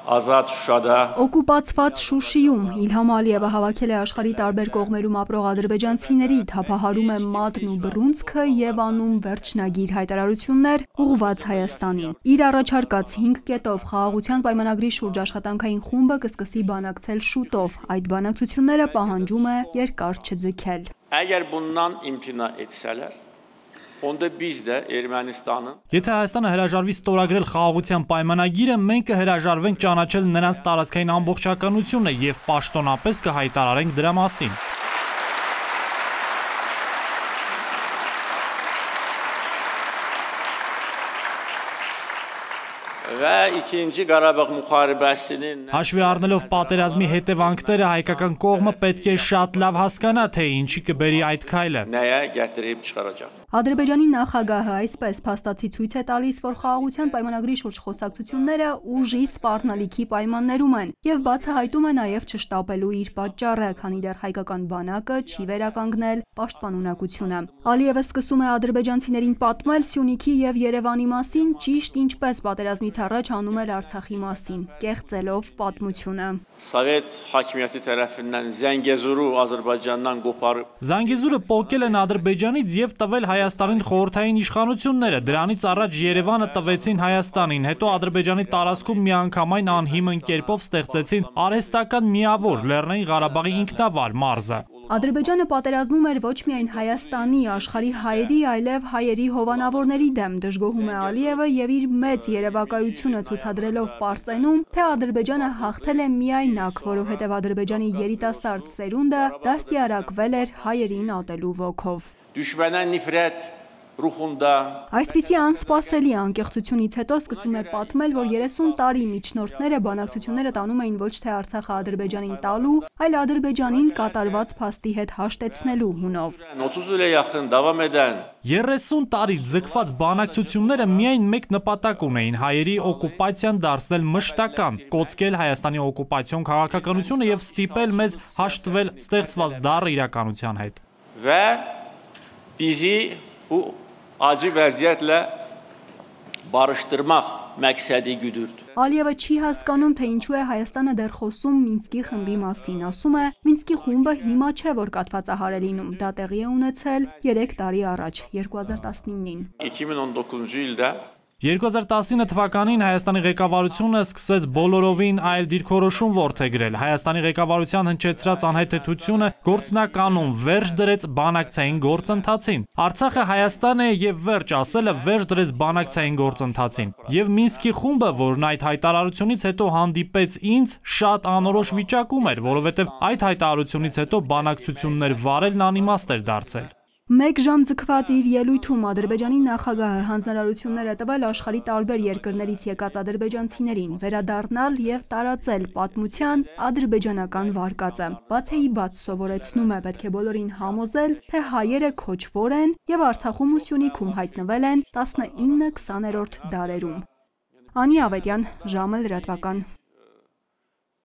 Ազատ Շուշada Օկուպացված Շուշիում Իլհամ Ալիևը հավաքել է աշխարհի տարբեր կողմերում ապրող ադրբեջանցիների, թափահարում է մատն ու բռունցքը եւ անում վերջնագիր հայտարարություններ ուղղված Հայաստանին։ Իր առաջարկած 5 կետով խաղաղության պայմանագրի շուրջ աշխատանքային խումբը կսկսի բանակցել շուտով։ Այդ բանակցությունները պահանջում է երկար չձգել։ Əgər bundan imtina etsələr, onda biz də Ermənistanın Եթե Հայաստանը հրաժարվի ստորագրել խաղաղության պայմանագիրը, մենք կհրաժարվենք ճանաչել նրանց տարածքային ամբողջականությունը եւ պաշտոնապես կհայտարարենք դրա մասին։ Və ikinci Qarabağ müharibəsinin Հաշվի առնելով պատերազմի հետևանքները, հայկական կողմը պետք է շատ լավ հասկանա, թե ինչի կբերի այդ քայլը։ nəyə gətirib çıxaracaq։ Ադրբեջանի նախագահը այսպես փաստացի ցույց է տալիս, որ խաղաղության պայմանագրի շուրջ խոսակցությունները ուժի սպառնալիքի պայմաններում են եւ բացահայտում է նաեւ չշտապելու իր պատճառը, քանի դեռ հայկական բանակը չի վերականգնել պաշտպանունակությունը։ Ալիևը սկսում է ադրբեջանցիներին պատմել Սյունիքի եւ Երևանի մասին, ճիշտ ինչպես պատերազմից առաջ անում էր Արցախի մասին, կեղծելով պատմությունը։ Սովետ hakimiyyəti tərəfindən Zəngəzuru Azərbaycandan qoparıb Զանգեզուրը պոկել են Ադրբեջանից եւ տվել Հայաստանին խորհրդային իշխանությունները, դրանից առաջ Երևանը տվեցին Հայաստանին, հետո Ադրբեջանի տարածքում միանգամայն անհիմն կերպով ստեղծեցին արհեստական միավոր Լեռնային Ղարաբաղի ինքնավար մարզը։ Ադրբեջանը պատերազմում էր ոչ միայն Հայաստանի, աշխարհի հայերի, այլև հայերի հովանավորների դեմ, դժգոհում է Ալիևը եւ իր մեծ երևակայությունը ցուցադրելով Պարծենում, թե Ադրբեջանը հաղթել է միայնակ, որովհետեւ Ադրբեջանի երիտասարդ սերունդը դաստիարակվել էր հայերին ատելու ոգով։ Düşmənə nifrət ruhunda Այսպիսի անսպասելի անկեղծությունից հետո սկսում է պատմել, որ 30 տարի միջնորդները բանակցությունները տանում էին ոչ թե Արցախը Ադրբեջանին տալու, այլ Ադրբեջանին կատարված փաստի հետ հաշտեցնելու հունով։ 30 ilə yaxın davam edən 30 տարի ձգված բանակցությունները միայն մեկ նպատակ ունեին՝ հայերի օկուպացիան դարձնել մշտական, կոծկել Հայաստանի օկուպացիոն քաղաքականությունը եւ ստիպել մեզ հաշտվել ստեղծված դառը իրականության հետ։ və bizi bu acı vəziyyətlə barışdırmaq məqsədi güdürdü։ Ալիևը չի հասկանում, թե ինչու է Հայաստանը դեռ խոսում Մինսկի խմբի մասին, ասում է, Մինսկի խումբը հիմա չէ, որ կաթվածահար է լինում, դա տեղի է ունեցել 3 տարի առաջ, 2019-ին։ 2019-cu ildə 2019 թվականին Հայաստանի ղեկավարությունը սկսեց բոլորովին այլ դիրքորոշում որդեգրել։ Հայաստանի ղեկավարության հնչեցրած անհետեցությունը գործնականում վերջ դրեց բանակցային գործընթացին։ Արցախը Հայաստան է եւ վերջ ասելը վերջ դրեց բանակցային գործընթացին։ Եվ Մինսկի խումբը, որն այդ հայտարարությունից հետո հանդիպեց ինձ, շատ անորոշ վիճակում էր, որովհետեւ այդ հայտարարությունից հետո բանակցություններ վարելն անիմաստ էր դարձել։ Մեկ ժամ ձգված իր ելույթում Ադրբեջանի նախագահը հանձնարարություններ է տվել աշխարհի տարբեր երկրներից եկած ադրբեջանցիներին վերադառնալ եւ տարածել պատմության ադրբեջանական վարկածը։ Բացեի բաց սովորեցնում է, պետք է բոլորին համոզել, թե հայերը քոչվոր են եւ Արցախում ու Սյունիքում հայտնվել են 19-20-րդ դարերում։ Անի Ավետյան, ժամը լրատվական։